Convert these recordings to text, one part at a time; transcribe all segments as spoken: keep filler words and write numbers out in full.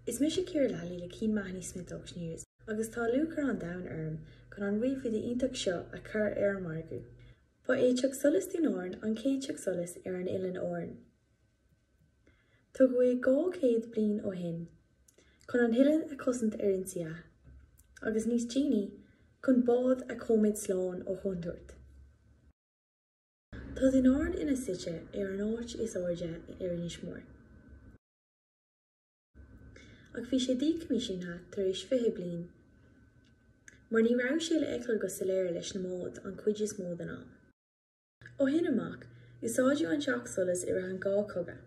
Is mise Ciara Lally le Keane Mahony Smith Auctioneers agus tá lúcháir an domhain orm chun an ríomhfhide iontach seo a chur ar an margadh. Ba é Teach Solais Dún Árann an chéad teach solais ar an Oileán Árann. Tógadh é dhá chéad bliain ó shin, chun an t-oileán a chosaint ar ionsaithe, agus níos déanaí chun báid a choimeád slán ó chontúirt. Tá Dún Árann ina suite ar an áit is airde ar Inis Mór. Ach bhí sé díchoimisiúnaithe tar éis fiche bliain, mar ní raibh sé le feiceáil go soiléir leis na báid an chuid is mó den am. Ó shin amach, úsáideadh an teach solais i rith an dhá chogadh.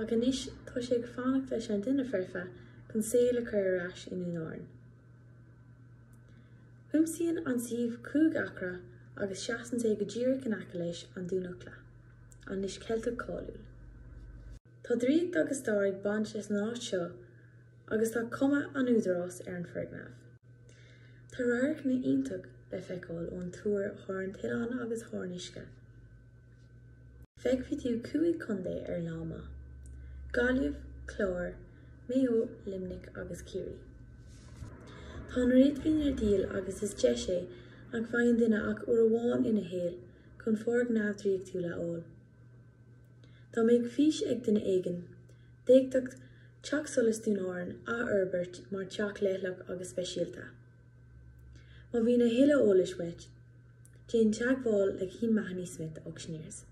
Ach anois tá sé ag fanacht leis an duine foirfe chun saol a chur ar ais i nDún Árann. Cuimsíonn an suíomh cúig acra agus seasann sé go díreach in aice leis an Dún Eochla, an lios Ceilteach cáiliúil. Tá draíocht agus stair ag baint leis an áit seo agus tá cuma an údaráis ar an foirgneamh. Tá radharcanna iontach le feiceáil ón túr thar an t-oileán agus thar an uisce. Feicfidh tú cúig chontae ar lá maith: Gaillimh, Clár, Maigh Eo, Luimneach agus Ciarraí. Tá an réadmhaoin ar díol agus is deis é nach bhfaigheann duine ach uair amháin ina shaol chun foirgneamh draíochtúil a fháil. Dá mbeadh fís ag duine éigin, d'fhéadfadh Teach Solais Dún Árann a fhorbairt mar teach leithleach agus speisialta. Má bhíonn a thuilleadh eolais uait, déan teagmháil le Keane Mahony Smith Auctioneers.